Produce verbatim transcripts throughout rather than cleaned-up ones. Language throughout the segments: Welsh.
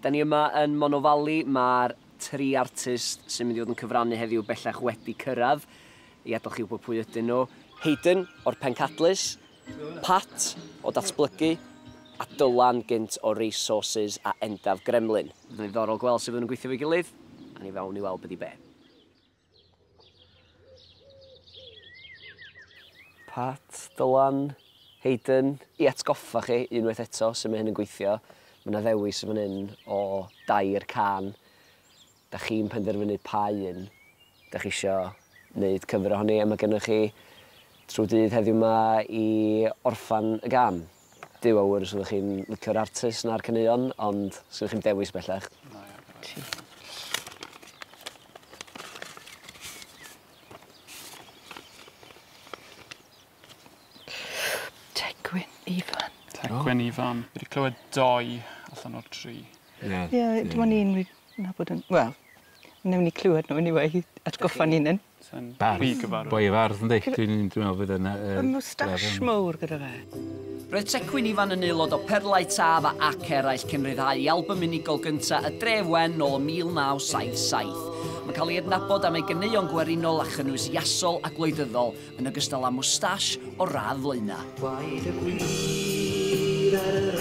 Da ni yma yn Monnow Valley, mae'r tri artist sy'n mynd i fod yn cyfrannu heddiw bellach wedi cyrraedd. I adael chi wybod pwy ydyn nhw. Hayden o'r Pencadlys, Pat o Datblygu, a Dylan gynt o Resources a Endaf Gremlin. Fydd yn ddiddorol gweld sut fydden nhw'n gweithio efo'i gilydd, a ni fewn i weld beth i be. Pat, Dylan, Hayden, i atgoffa chi unwaith eto sut mae hyn yn gweithio. Mae yna ddewis yn fan hyn o dair cân. Da chi'n penderfynu pa un da chi isio wneud cyfer ohoni, a mae gennych chi trwy dydd heddiw yma i orffan y gân. Duw a ŵyr os ydych chi'n licio'r artist na'r caneuon, ond sgynnoch chi'm dewis bellach. Tegwyn Ifan. Tegwyn Ifan. Fi wedi clywed doi allan o'r tri. Ie, yeah, dim ond un fi'n nabod yn... Wel, wnawn ni clywed nhw anyway, atgoffa ni'n un. Bardd, boi y fardd, yndi? Dwi'n meddwl fydd yna... Y moustache mowr gyda fe. Roedd Tecwyn Ifan yn aelod o Perlau Taf ac eraill cyn rhyddhau ei album unigol gyntaf Y Dref Wen nôl ym mil naw saith saith. Mae'n cael ei adnabod am ei ganeuon gwerinol a chynnwys iasol a gwleidyddol, yn ogystal â moustache o radd flaenau.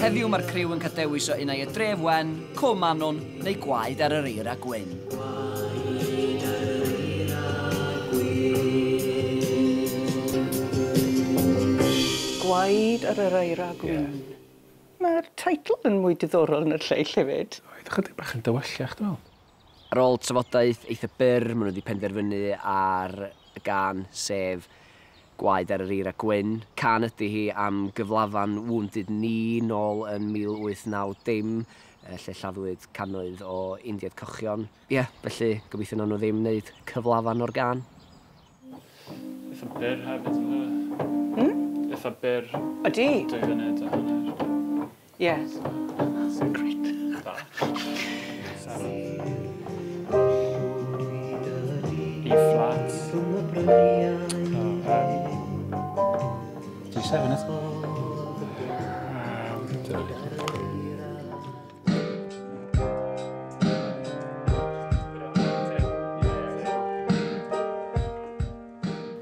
Heddiw mae'r criw yn cael dewis o unai Y Dref Wen, Cwm Annwn neu Gwaed ar yr Eira Gwyn. Gwaed ar yr Eira Gwyn. Yeah. Mae'r teitl yn mwy diddorol na'r lleill hefyd. Oedd ychydig bach yn dywyllach, dwi'n meddwl. Ar ôl trafodaeth eitha byr, maen nhw wedi penderfynu ar y gân, sef Gwaed ar yr Eira Gwyn. Cân ydy hi am gyflafan Wounded Knee nôl yn mil wyth naw dim, lle lladdwyd cannoedd o Indiaid Cochion. Ie, yeah, felly gobeithio nawn nhw ddim wneud cyflafan o'r gân. Eitha byr hefyd, ynddo? Hmm? Eitha byr. Ydy? Dwy funud a hanner. Ie. Great. Da. E flat. G seven, isn't it?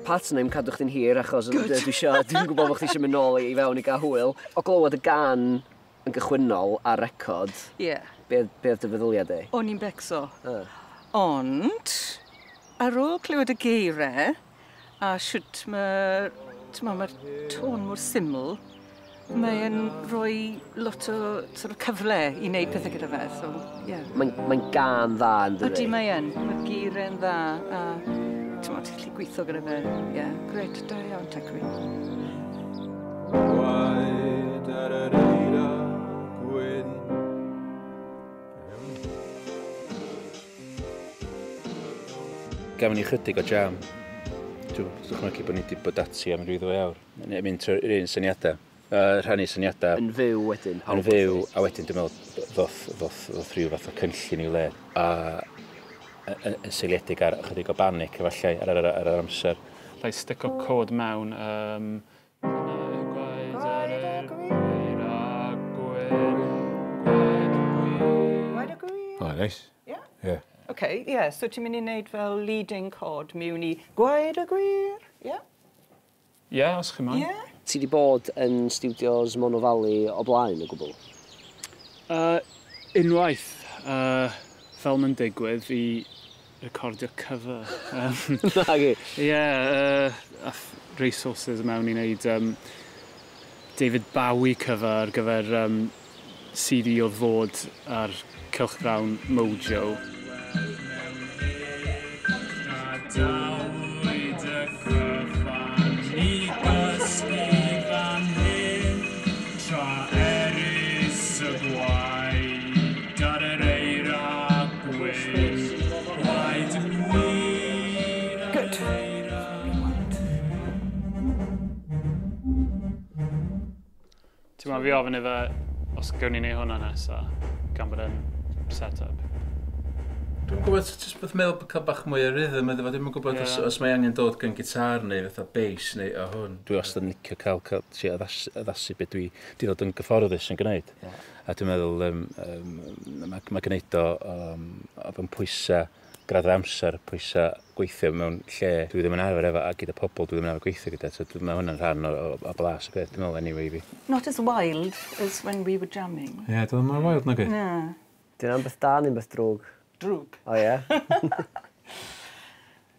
Pat, na i'm cadw chdi'n hir achos dwi isio, dwi'n gwybod bod chdi eisiau mynd nôl i fewn i gael hwyl. O glywed y gân yn gychwynnol ar record, Ie. be, be oedd dy feddyliad di? O'n i'n becso. Ah. Ond, ar ôl clywed y geiriau, a shwt mae'r mae'r tôn mor syml, mae'n rhoi lot o sort of cyfle i wneud pethau gyda fe, so, ie. Yeah. Mae'n mae gân dda, yn dydi? Ydy, mae yn. Mae'r geiriau'n dda, a ti'n gallu gweithio gyda fe. Ie, yeah, grêt, da iawn, Tecwyn. Gwaed ar yr eira gwyn. Gafon ni chydig o jam. Dwi'n dychmygu bod ni wedi bod ati am ryw ddwy awr. Mynd trwy'r un syniadau. Uh, rhannu syniadau. Yn fyw wedyn? Yn fyw, a wedyn dwi'n meddwl ddoth, ddoth, ddoth rhyw fath o cynllun i'w le. A yn seiliedig ar ychydig o banic efallai ar, ar, ar, ar yr amser. Alla i stico cod mewn. Um, Gwaed ar yr eira gwyn, gwaed gwyn. Gwaed y gwyn. O, neis. Ie? Ie. OK, ie, yeah, so ti'n mynd i wneud fel leading chord mewn i Gwaed y Gwir, ie? Yeah? Ie, yeah, os chi moyn. Ie. Yeah. Ti di bod yn studios Monnow Valley o blaen o gwbl? Uh, unwaith, uh, fel mae'n digwydd, i recordio cover. Um, Nagi? Ie, yeah, uh, ath Resources mewn i wneud um, David Bowie cover ar gyfer um, C D oedd fod ar cylchgrawn Mojo. Good. Ti'n meddwl fi ofyn iddo os gawn ni wneud hwnna nesa, gan bod e'n set-up. Dwi'n gwybod, jyst beth meddwl bod cael bach mwy o rhythm iddo fo. Dwi'n gwybod os, Ie. os mae angen dod gan gitar neu fatha bass neu o hwn. Dwi wastad yn licio cael, cael trio addasu, addasu beth dwi di ddod yn gyfforddus yn gwneud. Ie. A dwi'n meddwl, um, um, mae, mae gwneud o, um, o fewn pwysau graddau amser, pwysau gweithio mewn lle dwi ddim yn arfer efo a gyda pobl dwi ddim yn arfer gweithio gyda. So dwi- mae hwnna'n rhan o, o, o blas y peth, dwi'n meddwl, anyway i fi. Not as wild as when we were jamming. Ie, yeah, dwi'n mor wild nag. Na. Di hwnna'n beth da neu'n beth drwg? Drwg. O ie?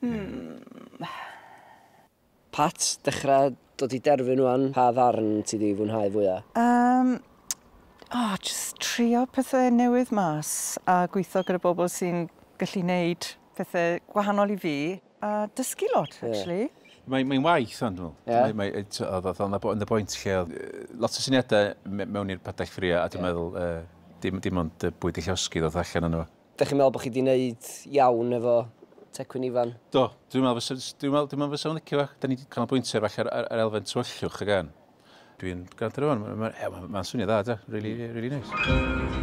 Hmm. Pat, dechrau dod i derfyn wan. Pa ddarn ti di fwynhau fwyaf? Um, oh, just trio pethau newydd mas a gweithio gyda bobl sy'n gallu neud pethau gwahanol i fi a dysgu lot, Ie. actually. Mae'n mae waith ond, dwi'n Ie. meddwl. Mae, mae, oedd oedd oedd y bwynt lle oedd yy, lot o syniadau me- mewn i'r padell ffrio a dwi'n Ie. meddwl uh, dim, dim ond yy, bwyd i llosgi ddod allan yno fo. Dych chi'n meddwl bod chi wedi gwneud iawn efo Tecwyn Ifan? Do, dwi'n meddwl fysa, dwi'n meddwl, dwi'n meddwl fysa fo'n licio fo. Da ni wedi canolbwyntio falle ar, ar, ar elfen tywyllwch y gan. Dwi'n gwrando ar hwn, mae'n ma, ma, ma swnio dda, da. Really, really nice.